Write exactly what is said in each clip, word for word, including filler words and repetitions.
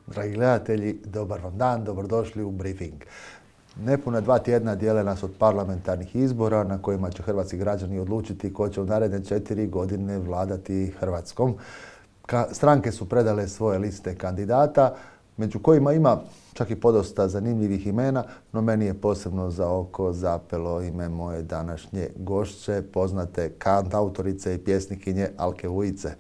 Dragi gledatelji, dobar vam dan, dobrodošli u briefing. Nepuna dva tjedna dijele nas od parlamentarnih izbora na kojima će hrvatski građani odlučiti ko će u naredne četiri godine vladati Hrvatskom. Stranke su predale svoje liste kandidata, među kojima ima čak i podosta zanimljivih imena, no meni je posebno za oko zapelo ime moje današnje gošće, poznate kantautorice i pjesnikinje Alke Vujice.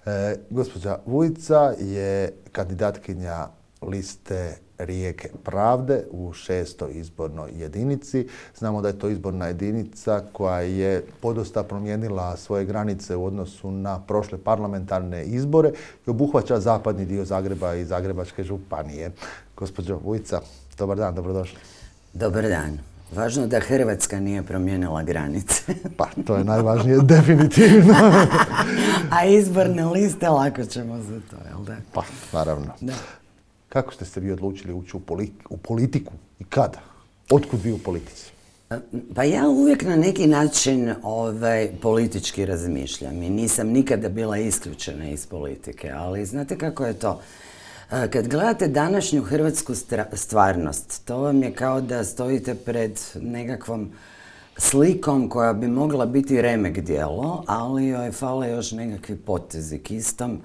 E, gospođa Vujica je kandidatkinja liste Rijeke Pravde u šestoj izbornoj jedinici. Znamo da je to izborna jedinica koja je podosta promijenila svoje granice u odnosu na prošle parlamentarne izbore i obuhvaća zapadni dio Zagreba i Zagrebačke županije. Gospođo Vujica, dobar dan, dobrodošli. Dobar dan. Važno da Hrvatska nije promijenila granice. Pa, to je najvažnije, definitivno. A izborne liste lako ćemo za to, jel da? Pa, naravno. Da. Kako ste se vi odlučili ući u, u politiku i kada? Otkud vi u politici? Pa ja uvijek na neki način ovaj, politički razmišljam i nisam nikada bila isključena iz politike, ali znate kako je to? Kad gledate današnju hrvatsku stvarnost, to vam je kao da stojite pred nekakvom slikom koja bi mogla biti remek djelo, ali joj fale još nekakvi potezi kistom.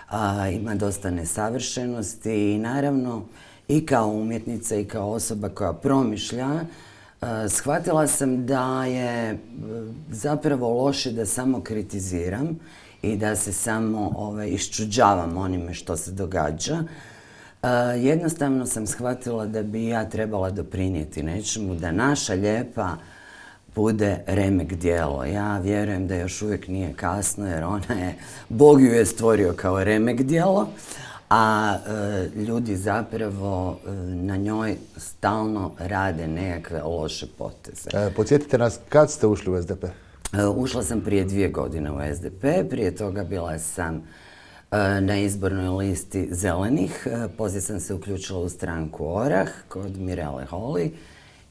A, ima dosta nesavršenosti i naravno i kao umjetnica i kao osoba koja promišlja, a, shvatila sam da je zapravo loše da samo kritiziram i da se samo ovaj, iščuđavam onime što se događa. A, jednostavno sam shvatila da bi ja trebala doprinijeti nečemu, da naša lijepa bude remek djelo. Ja vjerujem da još uvijek nije kasno jer ona je, Bog ju je stvorio kao remek djelo, a e, ljudi zapravo e, na njoj stalno rade nekakve loše poteze. E, podsjetite nas, kad ste ušli u S D P? E, ušla sam prije dvije godine u S D P, prije toga bila sam e, na izbornoj listi Zelenih, e, poslije sam se uključila u stranku Orah kod Mirele Holy.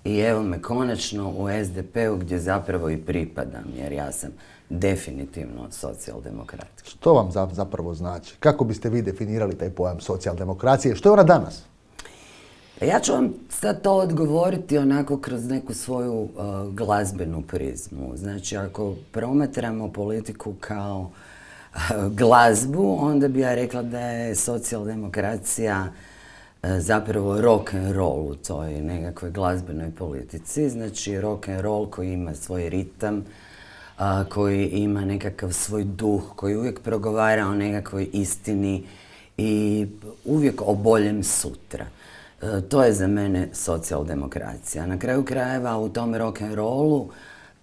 I evo me konačno u S D P-u gdje zapravo i pripadam, jer ja sam definitivno socijaldemokrat. Što vam zapravo znači? Kako biste vi definirali taj pojam socijaldemokracije? Što je ona danas? Ja ću vam sad to odgovoriti onako kroz neku svoju uh, glazbenu prizmu. Znači, ako promatramo politiku kao uh, glazbu, onda bi ja rekla da je socijaldemokracija zapravo rock and roll u toj nekakvoj glazbenoj politici. Znači rock and roll koji ima svoj ritam, a, koji ima nekakav svoj duh, koji uvijek progovara o nekakvoj istini i uvijek o boljem sutra. E, to je za mene socijaldemokracija. Na kraju krajeva u tom rock and rollu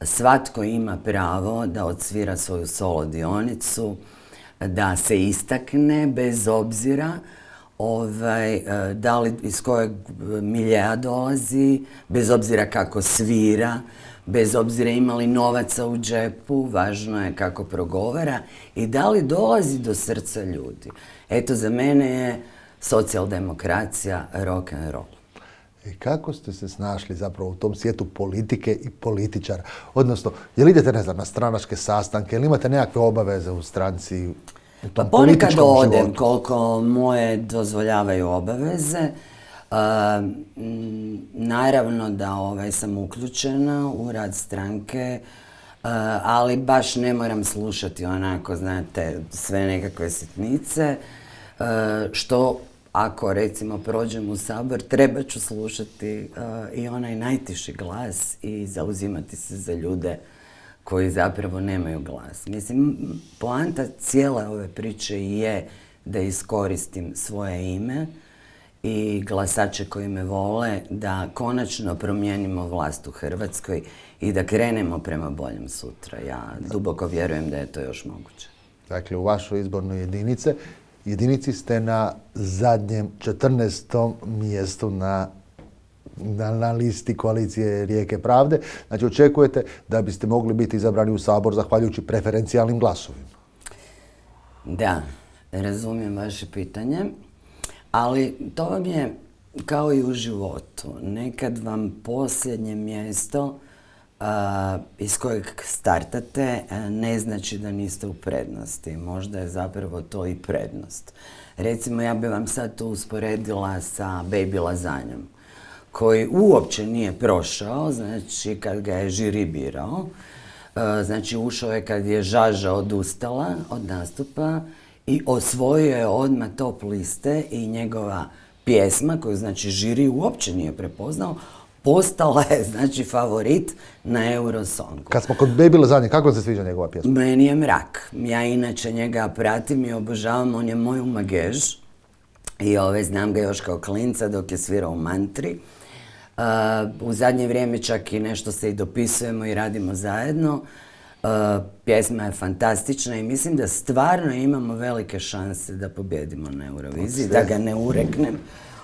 svatko ima pravo da odsvira svoju solo dionicu, da se istakne bez obzira Ovaj, da li iz kojeg miljeja dolazi, bez obzira kako svira, bez obzira ima li novaca u džepu, važno je kako progovara i da li dolazi do srca ljudi. Eto, za mene je socijaldemokracija rock and roll. I kako ste se snašli zapravo u tom svijetu politike i političara? Odnosno, je li idete, ne znam, na stranačke sastanke, ili imate nekakve obaveze u stranci? Pa ponekad odem koliko moje dozvoljavaju obaveze. Uh, naravno da ovaj, sam uključena u rad stranke, uh, ali baš ne moram slušati onako, znate, sve nekakve sitnice, uh, što ako recimo prođem u Sabor, treba ću slušati uh, i onaj najtiši glas i zauzimati se za ljude koji zapravo nemaju glas. Mislim, poanta cijele ove priče je da iskoristim svoje ime i glasače koji me vole, da konačno promijenimo vlast u Hrvatskoj i da krenemo prema boljem sutra. Ja duboko vjerujem da je to još moguće. Dakle, u vašoj izbornoj jedinice, jedinici ste na zadnjem četrnaestom mjestu na Na, na listi koalicije Rijeke Pravde. Znači, očekujete da biste mogli biti izabrani u Sabor zahvaljujući preferencijalnim glasovima. Da, razumijem vaše pitanje, ali to vam je kao i u životu. Nekad vam posljednje mjesto uh, iz kojeg startate ne znači da niste u prednosti. Možda je zapravo to i prednost. Recimo, ja bi vam sad tu usporedila sa Baby Lazanjom, koji uopće nije prošao, znači kad ga je žiri birao. Znači ušao je kad je Žaža odustala od nastupa i osvojio je odmah top liste i njegova pjesma, koju znači žiri uopće nije prepoznao, postala je znači favorit na Eurosongu. Kad smo kod Baby Lazanje, kako se sviđa njegova pjesma? Meni je mrak. Ja inače njega pratim i obožavam, on je moj umagež. I ove, znam ga još kao klinca dok je svirao u Mantri. Uh, u zadnje vrijeme čak i nešto se i dopisujemo i radimo zajedno. Uh, pjesma je fantastična i mislim da stvarno imamo velike šanse da pobjedimo na Euroviziji, da ga ne ureknem,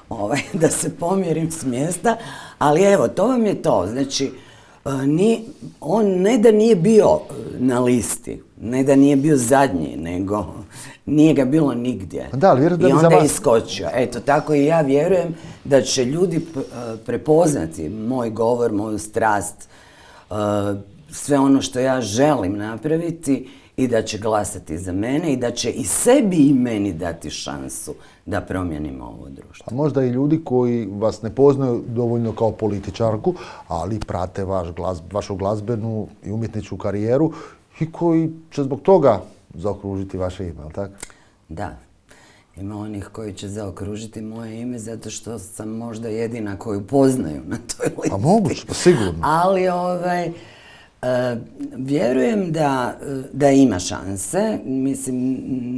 ovaj, da se pomjerim s mjesta, ali evo, to vam je to. Znači, uh, ni, on ne da nije bio na listi, ne da nije bio zadnji, nego nije ga bilo nigdje. Da, ali vjerujem da I bi onda za vas... je iskočio. Eto, tako i ja vjerujem da će ljudi prepoznati moj govor, moju strast, sve ono što ja želim napraviti i da će glasati za mene i da će i sebi i meni dati šansu da promijenimo ovo društvo. A možda i ljudi koji vas ne poznaju dovoljno kao političarku, ali prate vaš glaz, vašu glazbenu i umjetničku karijeru i koji će zbog toga zaokružiti vaše ime, ali tako? Da. Ima onih koji će zaokružiti moje ime zato što sam možda jedina koju poznaju na toj listi. A moguće, pa sigurno. Ali ovaj, uh, vjerujem da, da ima šanse. Mislim,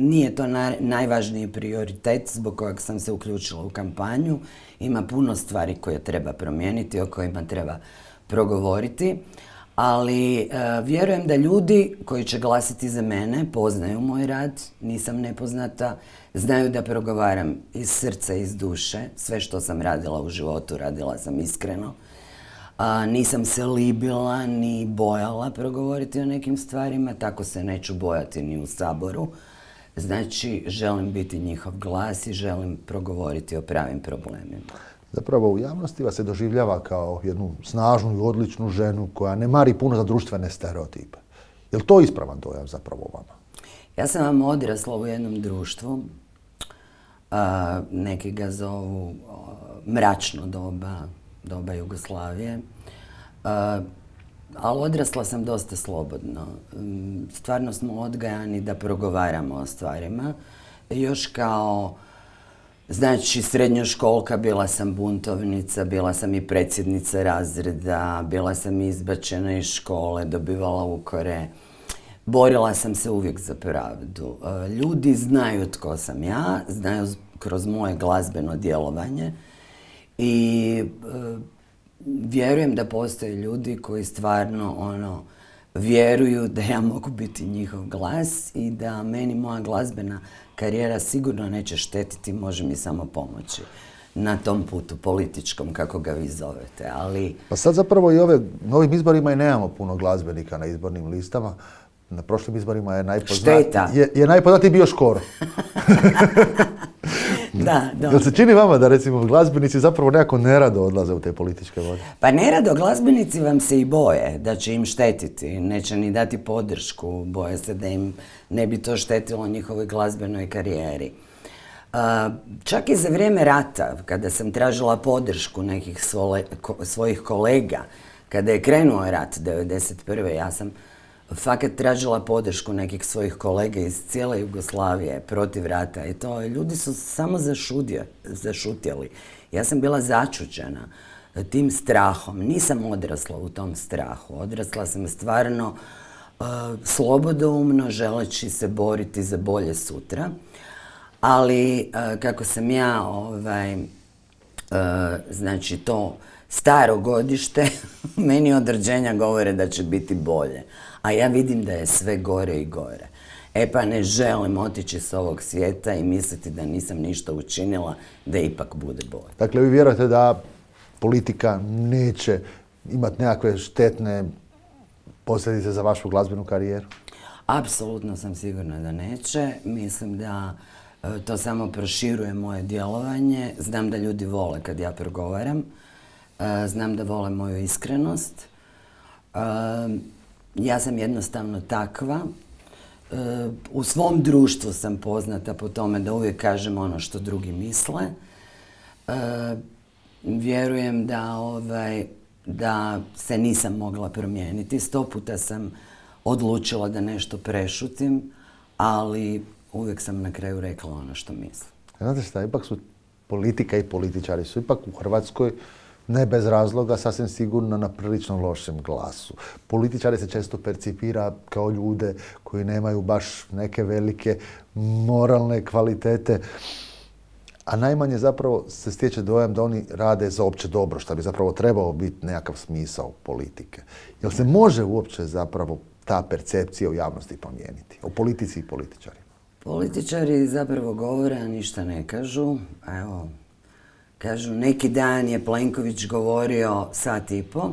nije to na, najvažniji prioritet zbog kojeg sam se uključila u kampanju. Ima puno stvari koje treba promijeniti, o kojima treba progovoriti. Ali uh, vjerujem da ljudi koji će glasiti za mene poznaju moj rad, nisam nepoznata, znaju da progovaram iz srca, iz duše, sve što sam radila u životu, radila sam iskreno. Uh, nisam se libila ni bojala progovoriti o nekim stvarima, tako se neću bojati ni u Saboru. Znači, želim biti njihov glas i želim progovoriti o pravim problemima. Zapravo u javnosti vas se doživljava kao jednu snažnu i odličnu ženu koja ne mari puno za društvene stereotipe. Je li to ispravan dojam zapravo o vama? Ja sam vam odrasla u jednom društvu, a, neki ga zovu a, mračno doba, doba Jugoslavije, a, ali odrasla sam dosta slobodno. Stvarno smo odgajani da progovaramo o stvarima. Još kao Znači, srednjoškolka, bila sam buntovnica, bila sam i predsjednica razreda, bila sam izbačena iz škole, dobivala ukore. Borila sam se uvijek za pravdu. Ljudi znaju tko sam ja, znaju kroz moje glazbeno djelovanje i e, vjerujem da postoje ljudi koji stvarno ono, vjeruju da ja mogu biti njihov glas i da meni moja glazbena karijera sigurno neće štetiti, može mi samo pomoći na tom putu političkom, kako ga vi zovete, ali... Pa sad zapravo i ove, na ovim izborima i nemamo puno glazbenika na izbornim listama. Na prošlim izborima je najpoznatiji... Šteta. Je, je najpoznatiji bio Škoro. Da, dobro. Jel se čini vama da, recimo, glazbenici zapravo nekako nerado odlaze u te političke vode? Pa nerado, glazbenici vam se i boje da će im štetiti, neće ni dati podršku, boje se da im ne bi to štetilo njihovoj glazbenoj karijeri. Uh, čak i za vrijeme rata, kada sam tražila podršku nekih svole, ko, svojih kolega, kada je krenuo rat devedeset prve ja sam fakat tražila podršku nekih svojih kolega iz cijele Jugoslavije protiv rata i to ljudi su samo zašudje, zašutjeli. Ja sam bila začuđena tim strahom. Nisam odrasla u tom strahu. Odrasla sam stvarno uh, slobodoumno, želeći se boriti za bolje sutra. Ali uh, kako sam ja, ovaj, uh, znači to staro godište, meni od rođenja govore da će biti bolje. A ja vidim da je sve gore i gore. E pa ne želim otići s ovog svijeta i misliti da nisam ništa učinila, da ipak bude bolje. Dakle, vi vjerujete da politika neće imati nekakve štetne posljedice za vašu glazbenu karijeru? Apsolutno sam sigurna da neće. Mislim da e, to samo proširuje moje djelovanje. Znam da ljudi vole kad ja progovaram. E, znam da vole moju iskrenost. Ja sam jednostavno takva. U svom društvu sam poznata po tome da uvijek kažem ono što drugi misle. Vjerujem da, ovaj, da se nisam mogla promijeniti. Sto puta sam odlučila da nešto prešutim, ali uvijek sam na kraju rekla ono što mislim. Znate šta, ipak su politika i političari su ipak u Hrvatskoj ne bez razloga, sasvim sigurno na prilično lošem glasu. Političari se često percipira kao ljude koji nemaju baš neke velike moralne kvalitete, a najmanje zapravo se stječe dojam da oni rade za opće dobro, što bi zapravo trebao biti nekakav smisao politike. Jel se može uopće zapravo ta percepcija u javnosti promijeniti? O politici i političarima. Političari zapravo govore, a ništa ne kažu. Evo, kažu, neki dan je Plenković govorio sat i po.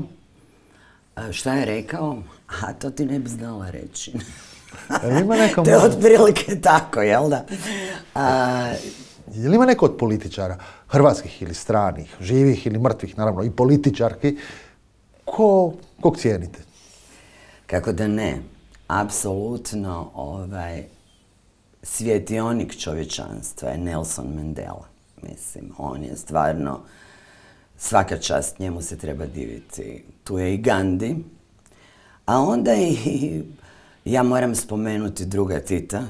Šta je rekao? A to ti ne bi znala reći. Ima neko to je otprilike tako, jel da? A, je li ima neko od političara, hrvatskih ili stranih, živih ili mrtvih, naravno, i političarki, ko, kog cijenite? Kako da ne? Apsolutno ovaj, svjetionik čovječanstva je Nelson Mandela. Mislim, on je stvarno, svaka čast, njemu se treba diviti. Tu je i Gandhi, a onda i, ja moram spomenuti druga Tita.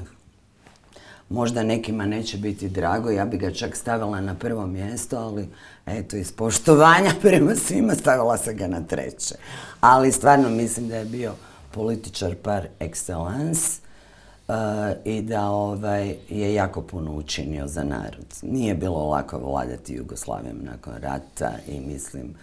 Možda nekima neće biti drago, ja bi ga čak stavila na prvo mjesto, ali eto, iz poštovanja prema svima stavila sam ga na treće. Ali stvarno mislim da je bio političar par excellence uh, i da ovaj, je jako puno učinio za narod. Nije bilo lako vladati Jugoslavijom nakon rata i mislim,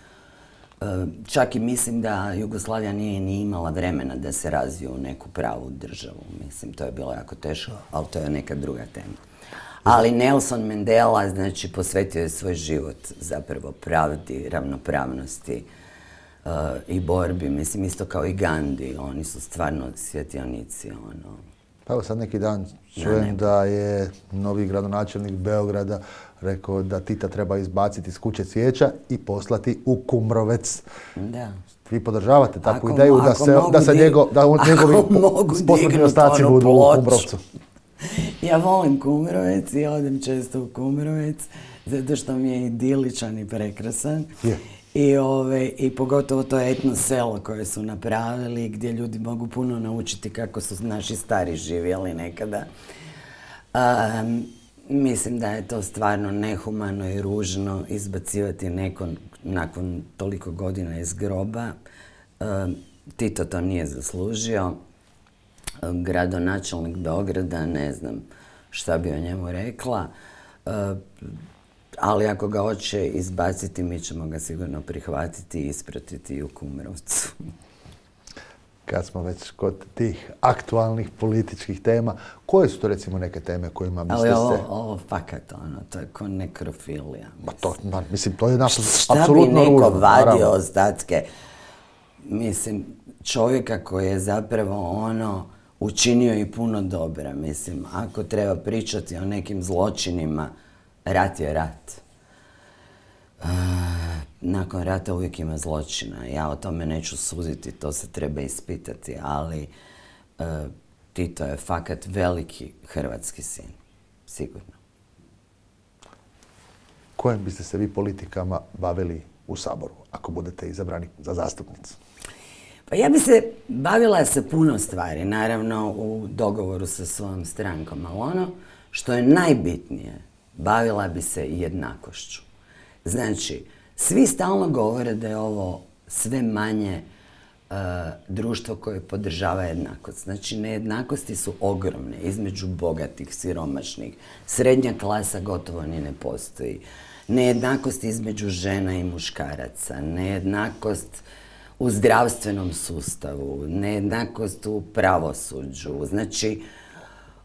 uh, čak i mislim da Jugoslavija nije ni imala vremena da se razvije u neku pravu državu. Mislim, to je bilo jako teško, ali to je neka druga tema. Ali Nelson Mandela, znači, posvetio je svoj život zapravo pravdi, ravnopravnosti uh, i borbi. Mislim, isto kao i Gandhi, oni su stvarno svjetionici, ono. Pa evo sad neki dan čujem da je novi gradonačelnik Beograda rekao da Tita treba izbaciti iz kuće cvijeća i poslati u Kumrovec. Da. Vi podržavate takvu ako, ideju da se, da se njego, da on, njegovi posmrtni ostaci budu u Kumrovcu? Ja volim Kumrovec i odem često u Kumrovec zato što mi je idiličan i prekrasan. Yeah. I, ove, I pogotovo to etno selo koje su napravili gdje ljudi mogu puno naučiti kako su naši stari živjeli nekada. Um, mislim da je to stvarno nehumano i ružno izbacivati neko nakon toliko godina iz groba. Um, Tito to nije zaslužio. Um, gradonačelnik Beograda, ne znam šta bi o njemu rekla. Uh, Ali ako ga hoće izbaciti, mi ćemo ga sigurno prihvatiti i ispratiti u Kumrovcu. Kad smo već kod tih aktualnih političkih tema, koje su to recimo neke teme kojima biste se... Ali ovo, ovo fakat, ono, to je ko nekrofilija. Pa to, mislim, to je apsolutno Šta ružno. bi neko vadio ostatke? Mislim, čovjeka koji je zapravo ono učinio i puno dobra. Mislim, ako treba pričati o nekim zločinima, rat je rat. Uh, nakon rata uvijek ima zločina. Ja o tome neću suditi, to se treba ispitati, ali uh, Tito je fakat veliki hrvatski sin. Sigurno. Kojim biste se vi politikama bavili u Saboru, ako budete izabrani za zastupnicu? Pa ja bi se bavila sa puno stvari, naravno u dogovoru sa svojom strankom, ali ono što je najbitnije, bavila bi se jednakošću. Znači, svi stalno govore da je ovo sve manje uh, društvo koje podržava jednakost. Znači, nejednakosti su ogromne između bogatih, siromašnih, srednja klasa gotovo ni ne postoji. Nejednakost između žena i muškaraca, nejednakost u zdravstvenom sustavu, nejednakost u pravosuđu. Znači,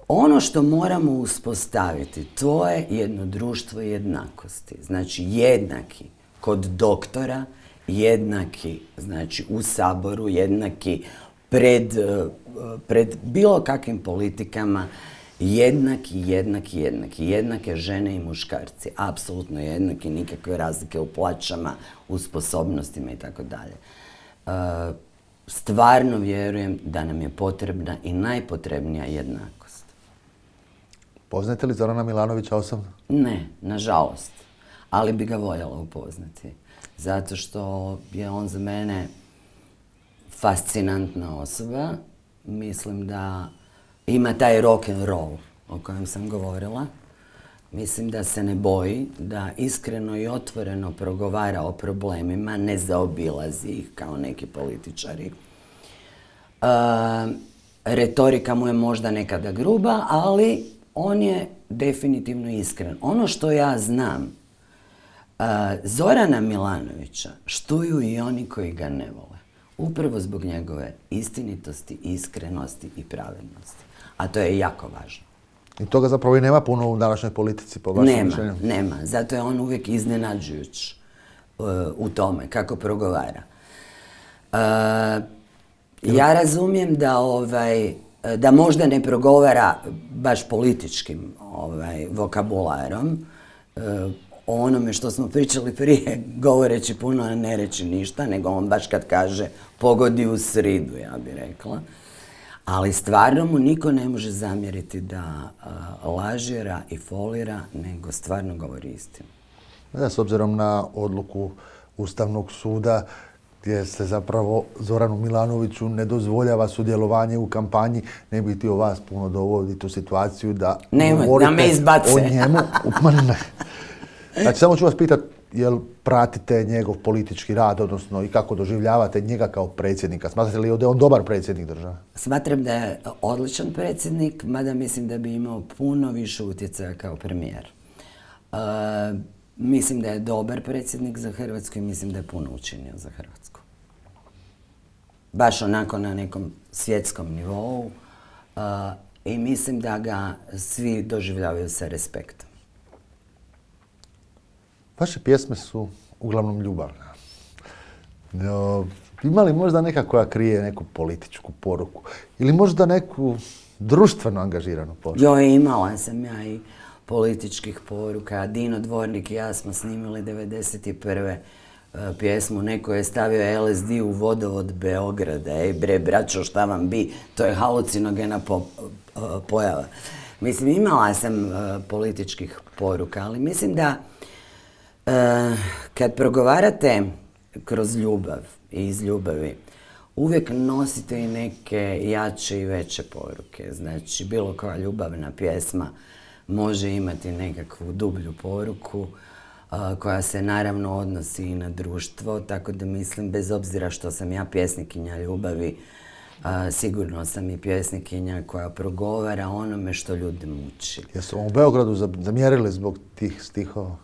ono što moramo uspostaviti, to je jedno društvo jednakosti. Znači, jednaki kod doktora, jednaki, znači, u Saboru, jednaki pred, pred bilo kakvim politikama, jednaki, jednaki, jednaki. Jednake žene i muškarci, apsolutno jednaki, nikakve razlike u plaćama, u sposobnostima i tako dalje. stvarno vjerujem da nam je potrebna i najpotrebnija jednakost. Poznate li Zorana Milanovića osobno? Ne, nažalost. Ali bi ga voljela upoznati. Zato što je on za mene fascinantna osoba. Mislim da ima taj rock and roll o kojem sam govorila. Mislim da se ne boji, da iskreno i otvoreno progovara o problemima, ne zaobilazi ih kao neki političari. E, retorika mu je možda nekada gruba, ali on je definitivno iskren. Ono što ja znam, e, Zorana Milanovića štuju i oni koji ga ne vole. Upravo zbog njegove istinitosti, iskrenosti i pravednosti. A to je jako važno. I toga zapravo i nema puno u današnjoj politici, po vašem nema, mišljenju? Nema, zato je on uvijek iznenađujuć uh, u tome kako progovara. Uh, ja razumijem da, ovaj, da možda ne progovara baš političkim ovaj, vokabularom, uh, o onome što smo pričali prije, govoreći puno, a ne reći ništa, nego on baš kad kaže pogodi u sridu, ja bih rekla. Ali stvarno mu niko ne može zamjeriti da uh, lažira i folira, nego stvarno govori istinu. Da, s obzirom na odluku Ustavnog suda, gdje se zapravo Zoranu Milanoviću ne dozvoljava sudjelovanje u kampanji, ne bi htio vas puno dovoditi u situaciju da Nemoj, govorite da me izbace. O njemu. Ma ne. Znači, samo ću vas pitati, jel pratite njegov politički rad, odnosno i kako doživljavate njega kao predsjednika? Smatrate li da je on dobar predsjednik države? Smatram da je odličan predsjednik, mada mislim da bi imao puno više utjecaja kao premijer. Uh, mislim da je dobar predsjednik za Hrvatsku i mislim da je puno učinio za Hrvatsku. Baš onako na nekom svjetskom nivou uh, i mislim da ga svi doživljavaju sa respektom. Vaše pjesme su uglavnom ljubavne. No, ima li možda neka koja krije neku političku poruku? Ili možda neku društveno angažiranu poruku? Jo, imala sam ja i političkih poruka. Dino Dvornik i ja smo snimili devedeset prve pjesmu. Neko je stavio L S D u vodovod Beograda. Ej bre, braćo, šta vam bi? To je halucinogena po, pojava. Mislim, imala sam uh, političkih poruka, ali mislim da uh, kad progovarate kroz ljubav i iz ljubavi, uvijek nosite i neke jače i veće poruke. Znači, bilo koja ljubavna pjesma može imati nekakvu dublju poruku a, koja se naravno odnosi i na društvo, tako da mislim, bez obzira što sam ja pjesnikinja ljubavi, a, sigurno sam i pjesnikinja koja progovara onome što ljudi muči. Jesu vam u Beogradu zamjerili zbog tih stihova?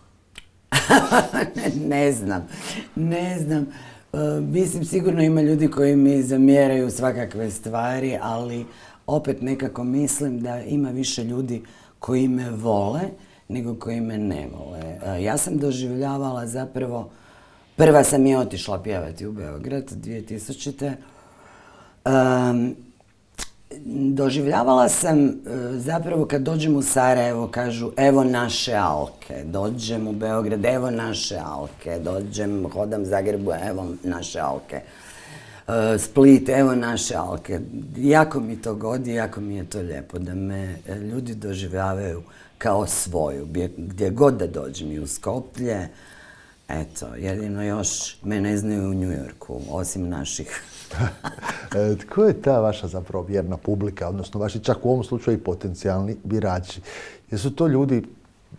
ne, ne znam, ne znam. Uh, mislim, sigurno ima ljudi koji mi zamjeraju svakakve stvari, ali opet nekako mislim da ima više ljudi koji me vole nego koji me ne vole. Uh, ja sam doživljavala zapravo, prva sam i otišla pjevati u Beograd dvije tisućite. Um, Doživljavala sam uh, zapravo kad dođem u Sarajevo, kažu evo naše Alke, dođem u Beograd, evo naše Alke, dođem, hodam Zagrebu, evo naše Alke, uh, Split, evo naše Alke. Jako mi to godi, jako mi je to lijepo da me ljudi doživljavaju kao svoju, gdje god da dođem i u Skoplje. Eto, jedino još me ne znaju u New Yorku, osim naših. Tko je ta vaša zapravo vjerna publika, odnosno vaši čak u ovom slučaju i potencijalni birači? Jesu to ljudi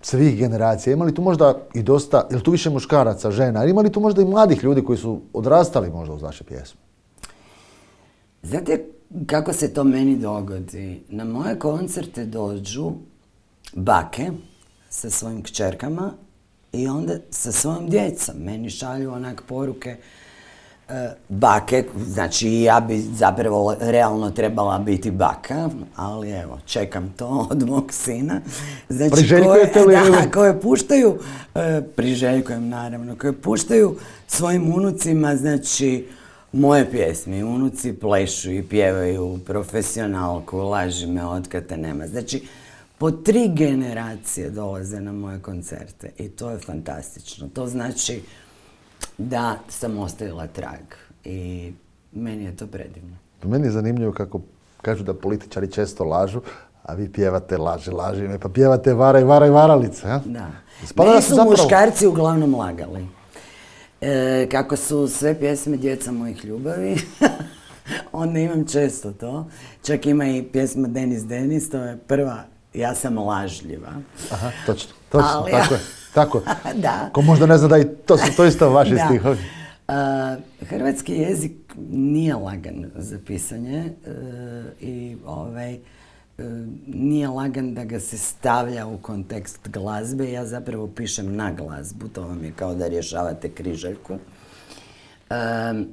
svih generacija? Ima li tu možda i dosta, je li tu više muškaraca, žena? Ima li tu možda i mladih ljudi koji su odrastali možda uz vaše pjesme? Znate kako se to meni dogodi? Na moje koncerte dođu bake sa svojim kćerkama i onda sa svojom djecom. Meni šalju onak poruke e, bake, znači ja bi zapravo realno trebala biti baka, ali evo, čekam to od mog sina. Znači, priželjkujete li? Da, koje puštaju, e, priželjkujem naravno, koje puštaju svojim unucima, znači, moje pjesme. Unuci plešu i pjevaju profesionalku, laži me otkad te nema. Znači, po tri generacije dolaze na moje koncerte i to je fantastično. To znači da sam ostavila trag i meni je to predivno. Meni je zanimljivo kako kažu da političari često lažu, a vi pjevate laži, laži me, pa pjevate varaj, varaj, varalice. Ja? Da. Spada Meni su su zapravo... muškarci uglavnom lagali. E, kako su sve pjesme Djeca mojih ljubavi, onda imam često to. Čak ima i pjesma Denis Denis, to je prva, ja sam lažljiva. Aha, točno, točno, Ali, tako je. Tako. Da. Ko možda ne zna da i to su to isto vaši Da. stihovi. Uh, hrvatski jezik nije lagan za pisanje uh, i ovaj, uh, nije lagan da ga se stavlja u kontekst glazbe. Ja zapravo pišem na glazbu, to vam je kao da rješavate križaljku. Um,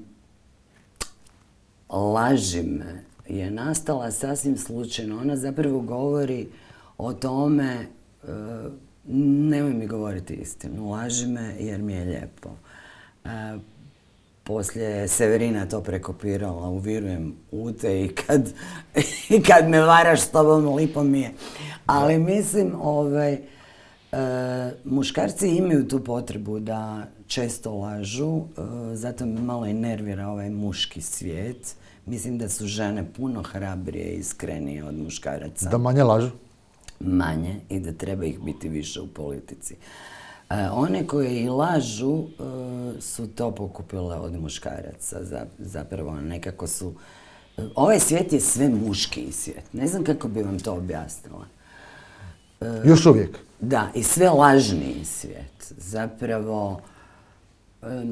Laži me je nastala sasvim slučajno. Ona zapravo govori o tome, uh, nemoj mi govoriti istinu, laži me jer mi je lijepo. Uh, Poslije je Severina to prekopirala, uvirujem u te i kad, i kad me varaš s tobom, lipo mi je. Ali mislim, ovaj, e, muškarci imaju tu potrebu da često lažu, e, zato me malo i nervira ovaj muški svijet. Mislim da su žene puno hrabrije i iskrenije od muškaraca. Da manje lažu? Manje i da treba ih biti više u politici. E, one koje i lažu e, su to pokupile od muškaraca. Zapravo nekako su... E, ovaj svijet je sve muški svijet. Ne znam kako bi vam to objasnila. E, Još uvijek? Da, i sve lažniji svijet. Zapravo, e,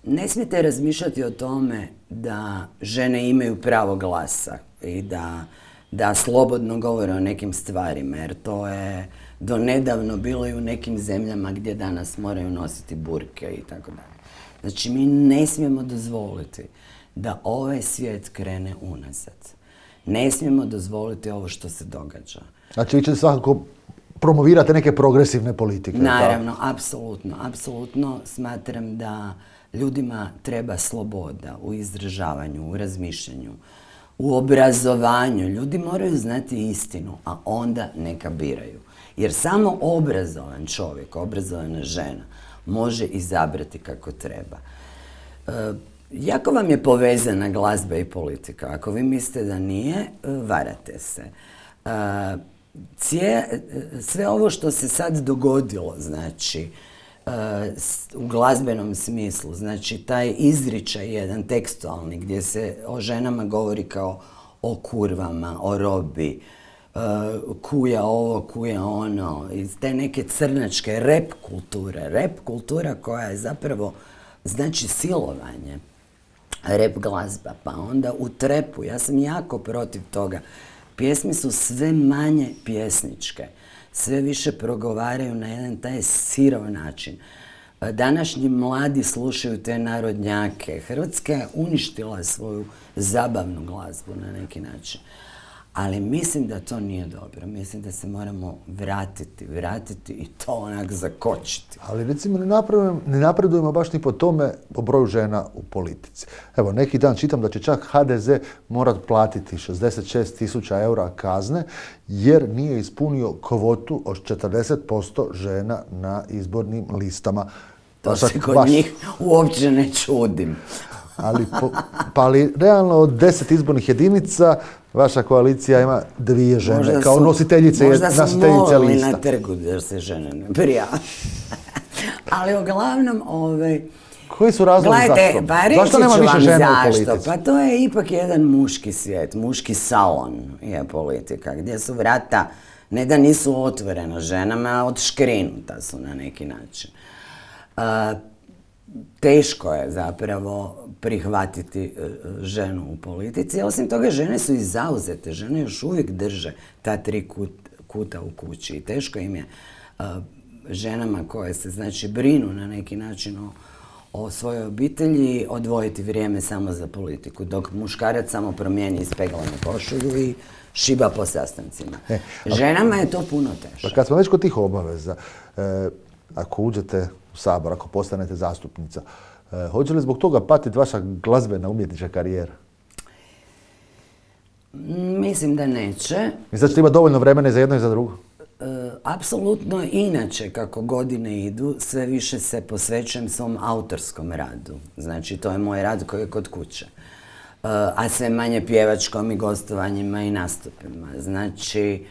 ne smijete razmišljati o tome da žene imaju pravo glasa i da, da slobodno govore o nekim stvarima, jer to je do nedavno bilo i u nekim zemljama gdje danas moraju nositi burke i tako dalje. Znači, mi ne smijemo dozvoliti da ovaj svijet krene unazad. Ne smijemo dozvoliti ovo što se događa. Znači, vi ćete svakako promovirati neke progresivne politike. Naravno, apsolutno, apsolutno smatram da ljudima treba sloboda u izražavanju, u razmišljanju, u obrazovanju. Ljudi moraju znati istinu, a onda neka biraju. Jer samo obrazovan čovjek, obrazovana žena, može izabrati kako treba. E, jako vam je povezana glazba i politika. Ako vi mislite da nije, varate se. E, cije, sve ovo što se sad dogodilo, znači, e, u glazbenom smislu, znači taj izričaj jedan tekstualni gdje se o ženama govori kao o kurvama, o robi, Uh, kuja ovo, kuja ono, iz te neke crnačke rap kulture. Rap kultura koja je zapravo, znači silovanje. Rap glazba, pa onda u trepu, ja sam jako protiv toga. Pjesme su sve manje pjesničke, sve više progovaraju na jedan taj sirov način. Današnji mladi slušaju te narodnjake. Hrvatska je uništila svoju zabavnu glazbu na neki način. Ali mislim da to nije dobro. Mislim da se moramo vratiti, vratiti i to onak zakočiti. Ali recimo ne napredujemo, ne napredujemo baš ni po tome po broju žena u politici. Evo, neki dan čitam da će čak ha de ze morat platiti šezdeset šest tisuća eura kazne jer nije ispunio kvotu od četrdeset posto žena na izbornim listama. To se kod baš... njih uopće ne čudim. Ali, po, pa ali realno od deset izbornih jedinica vaša koalicija ima dvije žene možda kao su, nositeljice, možda nositeljice lista. Možda su molili na trgu da se žene ne prijave. Ali uglavnom, ovaj... Koji su razlozi zašto? Pa reći zašto nema više žena u politici? Pa to je ipak jedan muški svijet, muški salon je politika, gdje su vrata, ne da nisu otvorena ženama, odškrinuta su na neki način. Uh, Teško je zapravo prihvatiti ženu u politici. Osim toga, žene su i zauzete. Žene još uvijek drže ta tri kut, kuta u kući. I teško im je uh, ženama koje se znači brinu na neki način o, o svojoj obitelji odvojiti vrijeme samo za politiku. Dok muškarac samo promijeni ispeglanu košulju i šiba po sastancima. E, ženama je to puno teže. Pa kad smo već kod tih obaveza, e, ako uđete u Sabor, ako postanete zastupnica, e, hoće li zbog toga patiti vaša glazbena umjetnička karijera? Mislim da neće. Mislim da ćete imati dovoljno vremena i za jedno i za drugo? E, apsolutno inače, kako godine idu, sve više se posvećujem svom autorskom radu. Znači, to je moj rad koji je kod kuće. a sve manje pjevačkom i gostovanjima i nastupima. Znači,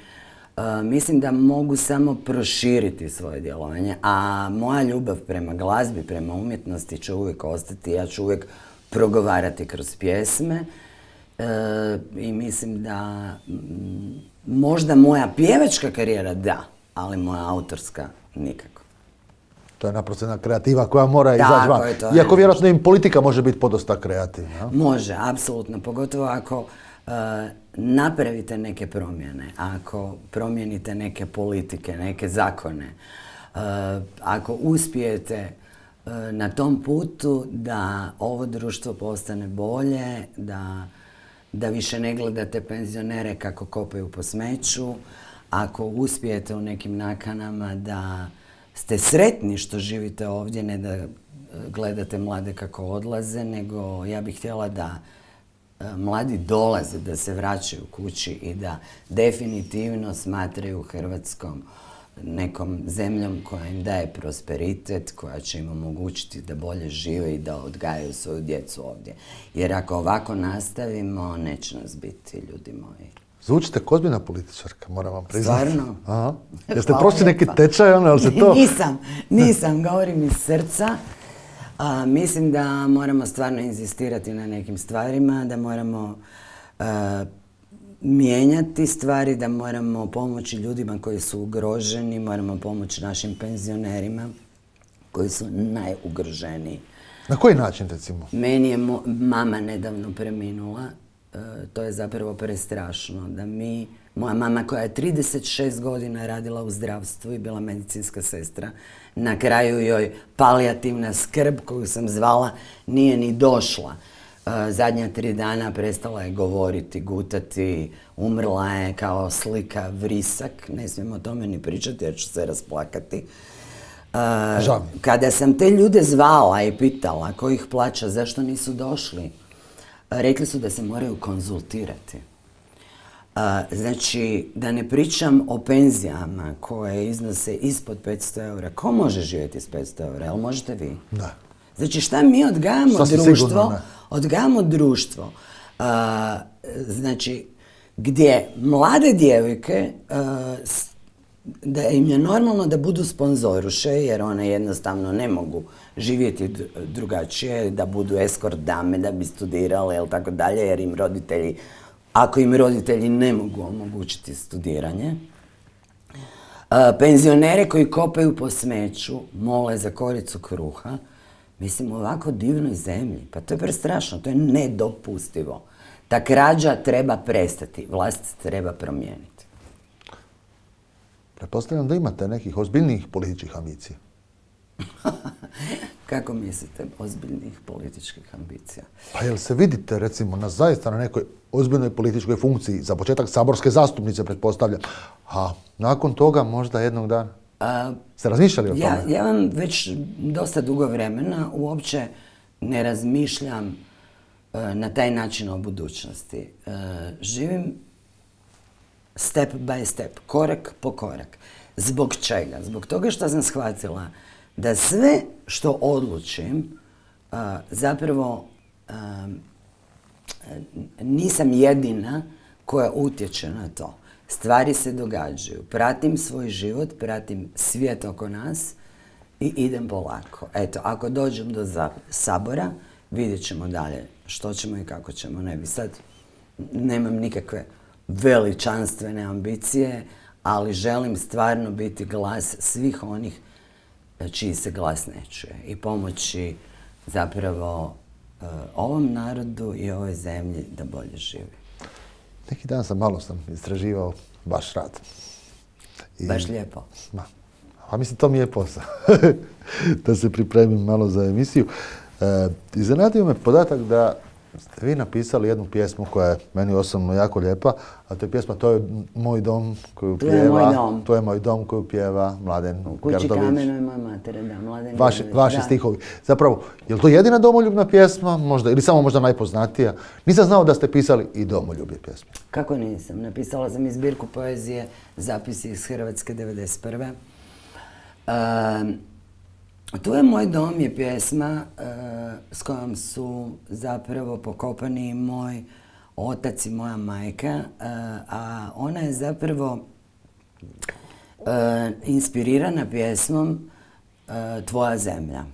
mislim da mogu samo proširiti svoje djelovanje, a moja ljubav prema glazbi, prema umjetnosti će uvijek ostati. Ja ću uvijek progovarati kroz pjesme i mislim da možda moja pjevačka karijera da, ali moja autorska nikako. To je naprosto jedna kreativa koja mora izaći van. Iako vjerojatno im politika može biti podosta kreativna. Može, apsolutno. Pogotovo ako uh, napravite neke promjene, ako promijenite neke politike, neke zakone, uh, ako uspijete uh, na tom putu da ovo društvo postane bolje, da, da više ne gledate penzionere kako kopaju po smeću, ako uspijete u nekim nakanama da ste sretni što živite ovdje, ne da gledate mlade kako odlaze, nego ja bih htjela da mladi dolaze, da se vraćaju kući i da definitivno smatraju Hrvatskom nekom zemljom koja im daje prosperitet, koja će im omogućiti da bolje žive i da odgajaju svoju djecu ovdje. Jer ako ovako nastavimo, neće nas biti, ljudi moji. Zvučite kao ozbiljna političarka, moram vam priznati. Stvarno? Aha. Jeste prošli neki tečaj, ono, ali se to... Nisam, nisam, govorim iz srca. A, mislim da moramo stvarno inzistirati na nekim stvarima, da moramo a, mijenjati stvari, da moramo pomoći ljudima koji su ugroženi, moramo pomoći našim penzionerima koji su najugroženiji. Na koji način, recimo? Meni je mo mama nedavno preminula. To je zapravo prestrašno da mi, moja mama koja je trideset šest godina radila u zdravstvu i bila medicinska sestra, na kraju joj palijativna skrb koju sam zvala nije ni došla. Zadnja tri dana prestala je govoriti, gutati, umrla je kao slika vrisak, ne smijem o tome ni pričati jer ću se rasplakati. Kada sam te ljude zvala i pitala ko ih plaća, zašto nisu došli, rekli su da se moraju konzultirati. Znači, da ne pričam o penzijama koje iznose ispod petsto eura. Ko može živjeti s petsto eura? Jel možete vi? Da. Znači, šta mi odgajamo društvo? Odgajamo društvo. Znači, gdje mlade djevojke, da im je normalno da budu sponzoruše, jer one jednostavno ne mogu živjeti drugačije, da budu eskort dame, da bi studirale, ili tako dalje, jer im roditelji, ako im roditelji ne mogu omogućiti studiranje. Penzionere koji kopaju po smeću, mole za koricu kruha, mislim, u ovako divnoj zemlji, pa to je prestrašno, to je nedopustivo. Ta krađa treba prestati, vlast treba promijeniti. Pretpostavljam da imate nekih ozbiljnijih političkih ambicija. Kako mislite, ozbiljnih političkih ambicija? Pa jel se vidite, recimo, na zaista na nekoj ozbiljnoj političkoj funkciji, za početak saborske zastupnice, pretpostavljam, a nakon toga možda jednog dana? A, Ste razmišljali o tome? Ja, ja vam već dosta dugo vremena uopće ne razmišljam uh, na taj način o budućnosti. Uh, živim step by step, korak po korak. Zbog čega? Zbog toga što sam shvatila da sve što odlučim, uh, zapravo uh, nisam jedina koja utječe na to. Stvari se događaju. Pratim svoj život, pratim svijet oko nas i idem polako. Eto, ako dođem do Sabora, vidjet ćemo dalje što ćemo i kako ćemo. Ne bi sad, nemam nikakve veličanstvene ambicije, ali želim stvarno biti glas svih onih čiji se glas ne čuje i pomoći zapravo uh, ovom narodu i ovoj zemlji da bolje živi. Neki dan sam malo sam istraživao vaš rad. I, Baš lijepo. Ma, a mislim, to mi je posao. Da se pripremim malo za emisiju. E, iznenadio me podatak da ste vi napisali jednu pjesmu koja je meni osobno jako lijepa, a to je pjesma To je moj dom koju pjeva... To je moj dom. To je moj dom koju pjeva Mladen Gerdović. U kući kamenu je moja mater, da, Mladen Vaši, Gerdović. Vaši stihovi. Zapravo, je li to jedina domoljubna pjesma, možda, ili samo možda najpoznatija? Nisam znao da ste pisali i domoljubne pjesme. Kako nisam? Napisala sam i zbirku poezije, zapisi iz Hrvatske devedeset prve. Um, Tu je moj dom je pjesma uh, s kojom su zapravo pokopani i moj otac i moja majka, uh, a ona je zapravo uh, inspirirana pjesmom uh, Tvoja zemlja,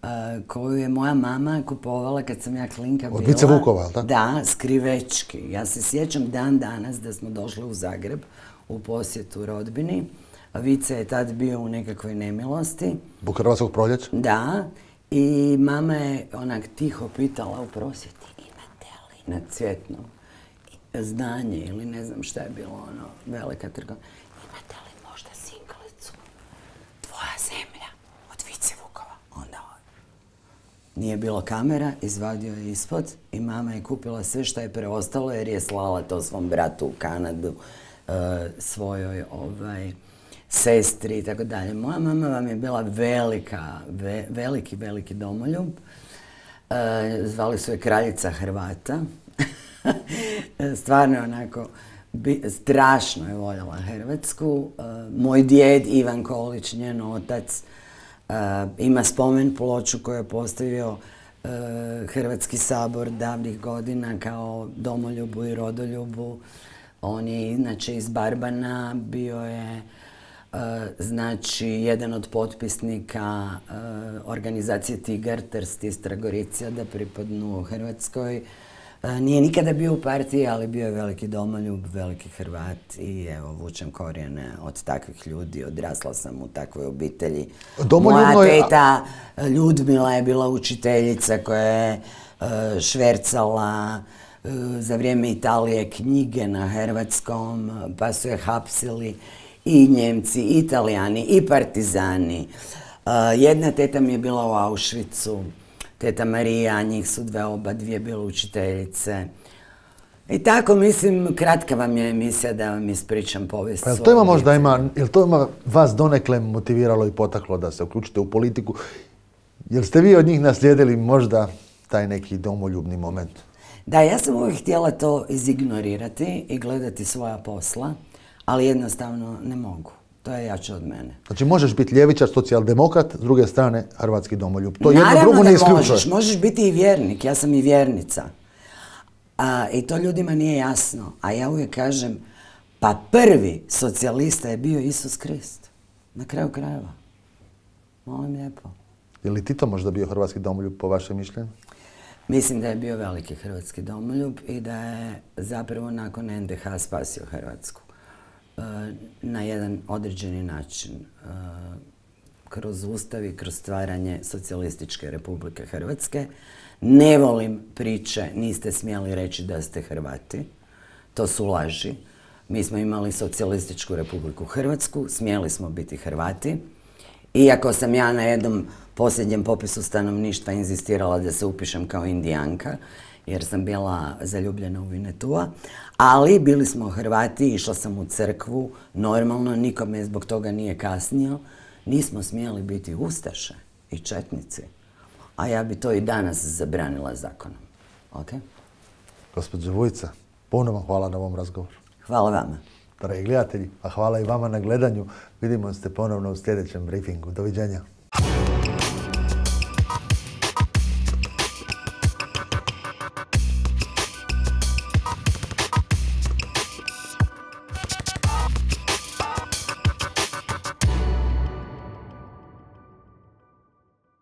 uh, koju je moja mama kupovala kad sam ja klinka bila. Od Vice Vukova, je li tako? Da, skrivečki. Ja se sjećam dan danas da smo došli u Zagreb u posjetu rodbini. Vice je tad bio u nekakvoj nemilosti. Zbog Hrvatskog proljeća? Da. I mama je onak tiho pitala u prosvjeti, imate li na Cvjetnom znanje ili ne znam šta je bilo, ono, velika trgovina. Imate li možda singlicu Tvoja zemlja od Vice Vukova? Onda nije bilo kamera, izvadio je ispod i mama je kupila sve što je preostalo jer je slala to svom bratu u Kanadu, uh, svojoj ovaj, sestri i tako dalje. Moja mama vam je bila velika, ve, veliki, veliki domoljub. Uh, zvali su je kraljica Hrvata. Stvarno onako, bi, strašno je voljela Hrvatsku. Uh, moj djed Ivan Kolić, njen otac, uh, ima spomen ploču koju je postavio uh, Hrvatski sabor davnih godina kao domoljubu i rodoljubu. On je inače iz Barbana, bio je uh, znači jedan od potpisnika uh, organizacije Tigar, Trst i Stragoricija da pripadnu Hrvatskoj. Nije nikada bio u partiji, ali bio je veliki domoljub, veliki Hrvat i evo, vučem korijene od takvih ljudi, odrasla sam u takvoj obitelji. Moja teta Ljudmila je bila učiteljica koja je švercala za vrijeme Italije knjige na hrvatskom, pa su je hapsili i Njemci, i Italijani, i partizani. Jedna teta mi je bila u Auschwitzu, teta Marija, njih su dve, oba dvije bile učiteljice. I tako, mislim, kratka vam je emisija da vam ispričam povijest. Pa jel to ima možda ima, jel to ima vas donekle motiviralo i potaklo da se uključite u politiku? Jel ste vi od njih naslijedili možda taj neki domoljubni moment? Da, ja sam uvijek htjela to izignorirati i gledati svoja posla, ali jednostavno ne mogu. To je jače od mene. Znači možeš biti ljevičar, socijaldemokrat, s druge strane hrvatski domoljub. To jedno drugo ne isključuje. Naravno da možeš, možeš biti i vjernik, ja sam i vjernica. A, I to ljudima nije jasno. A ja uvijek kažem, pa prvi socijalista je bio Isus Krist. Na kraju krajeva. Molim lijepo. Je li Tito možda bio hrvatski domoljub po vašem mišljenju? Mislim da je bio veliki hrvatski domoljub i da je zapravo nakon en de ha spasio Hrvatsku. Na jedan određeni način, kroz ustav i kroz stvaranje socijalističke Republike Hrvatske. Ne volim priče, niste smjeli reći da ste Hrvati, to su laži. Mi smo imali socijalističku Republiku Hrvatsku, smjeli smo biti Hrvati. Iako sam ja na jednom posljednjem popisu stanovništva inzistirala da se upišem kao Indijanka, jer sam bila zaljubljena u Vinetua, ali bili smo Hrvati, išla sam u crkvu, normalno, nikome zbog toga nije kasnio, nismo smjeli biti ustaše i četnici, a ja bi to i danas zabranila zakonom. Ok? Gospođo Vujica, puno vam hvala na ovom razgovoru. Hvala vama. Dragi gledatelji, a hvala i vama na gledanju. Vidimo se ponovno u sljedećem briefingu. Doviđenja.